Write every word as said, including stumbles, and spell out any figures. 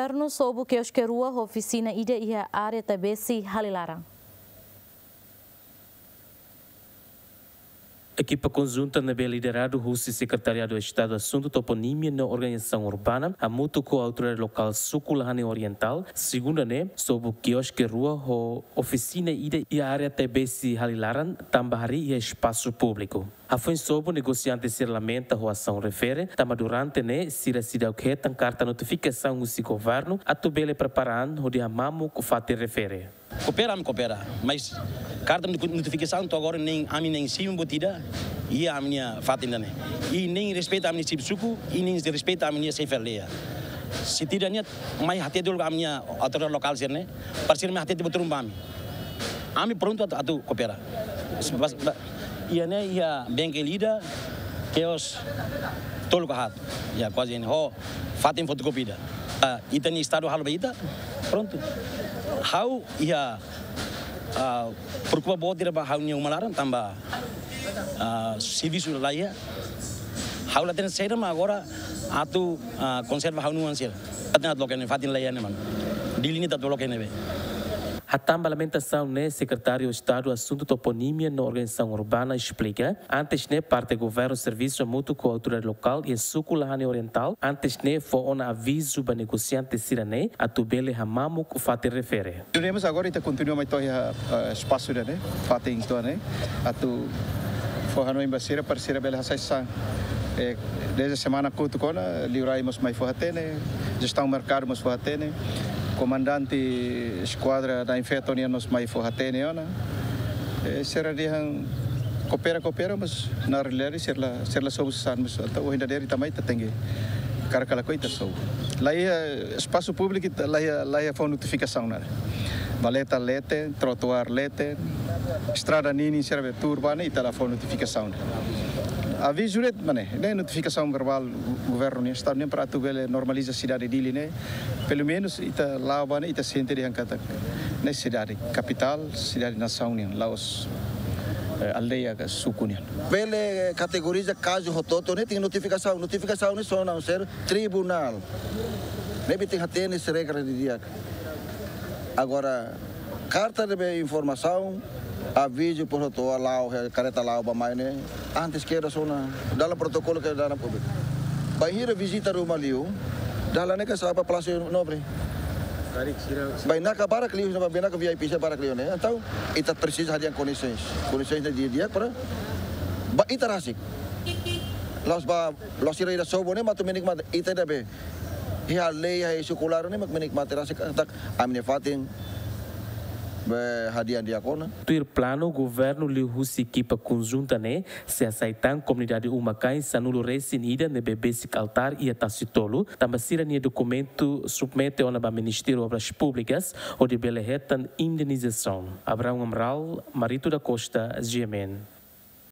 Governu sobu kioske rua ho ofisina ida iha área Taibesi Halilaran. Ekipa konjunta ne'ebé lideradu husi Sekretariadu Estadu Asuntu Toponímia no Organizasaun Urbana, hamutuk ho autoridade lokál Suku Lahane Orientál, segunda ne'e, sobu kioske rua ho ofisina ida iha área Taibesi Halilaran, tanba harii iha espasu públiku. Hafoin sobu, negosiante sira lamenta ho asaun refere, tanba durante ne'e sira seidauk hetan karta notifikasaun husi governu atu bele prepara an hodi hamamuk fatin refere. Koopera, ami koopera, mas karta noti-, notifikasaun to'o agora nein ami nein simu buat ida iha ami-nia fatin ida-ne'e. I nein respeita ami-nia xefe suku, i nein respeita ami-nia xefe aldeia. Se tidak niat, mai hatete dulu ami-nia autoridade lokál sira-ne'e, para sira mai hatete buat ruma ba ami. Ami prontu atu, atu koopera. Bas-, ba-, iha ne'e iha bengkel ida, kios tolu ka haat. Ya, kuaze ne'e. Ho fatin fotokópia ida. Ah, ita-nia Estadu halo ba ita, prontu. Ha'u iha, ah, preokupa boot ida ba ha'u-nia uma laran tanba, ah, servisu laiha. Ha'u la hatene saida mak agora atu, ah, konserva ha'u-nia oan sira. Atu loke ne'e fatin laiha ne'e, mano. Dili ne'e atu loke ne'ebé. Hatán ba lamentasaun ne'e, Sekretáriu Estadu Asuntu Toponímia no Organizasaun Urbana esplika, antes ne'e parte governu servisu hamutuk ho autoridade lokál iha Suku Lahane Orientál, antes ne'e fó ona avizu ba negosiante sira-ne'e atu bele hamamuk fatin refere. Duremos agora ita kontinua mai to'o iha, eh, espasu ida-ne'e, fatin ida-ne'e, atu fó hanoin ba sira para sira bele hasai sasán. Eh, desde semana kotuk ona, liurai mós mai fó hatene, jestaun merkadu mós fó hatene, komandante eskuadra da infeto nian mós mai fó hatene ona. Eh, sira dehan koopera, koopera, mas na realidade sira la, sira la sobu sasán, mas entaun ohin dadeer ita mai ita tenke karik kala ko ita sobu. Laiha espasu públiku, ita laiha, laiha fó notifikasaun ona. Valeta leten, trotuár leten, estrada ninin sira be tuur ba ne'e ita la fó notifikasaun ona. Avizu de'it, mane, ne'e notifikasaun verbál governu nian, Estadu nian para atu bele normaliza sidade Dili ne'e. Pelumenus ita la'o ba ne'e ita sente dehan katak ne'e sidade kapitál, sidade nasaun nian, la'ós, eh, aldeia ka suku nian. Bele kategoriza kazu hotu-hotu ne'e tenke notifikasaun, notifikasaun ne'e só na ser tribunál. Ne'ebé tenke hatene sira regra didi'ak. Agora, karta ne'ebé informasaun, avizu por hotu la'o, eh, kareta la'o ba mai ne'e, antes kedas ona, dalam protokolu ke dalam públiku. Bainhira vizita ruma liu, dalan ne'e ka sa'e ba Palásiu Nobre. Bainaka barak liu, bainaka V I P sira barak liu ne'e. Entaun, ita presiza hadi'a kondisoens. Kondisoens ne'e didi'ak para ba ita rasik. La'ós ba, la'ós sira ida sobu ne'e mak atu menikmati, ita ida be iha lei, iha suku laran ne'e mak menikmati rasik katak ami-nia fatin be hadi'a di'ak ona. Tuir planu, governu liuhusi ekipa konjunta ne'e sei hasai tan komunidade uma-kain sanulu-resin-ida ne'ebé besik altár iha Tasitolu, tanba sira-nia dokumentu submete ona ba Ministériu Obras Públikas hodi bele hetan indenizasaun. Abraão Amaral, Marito da Costa, G M N.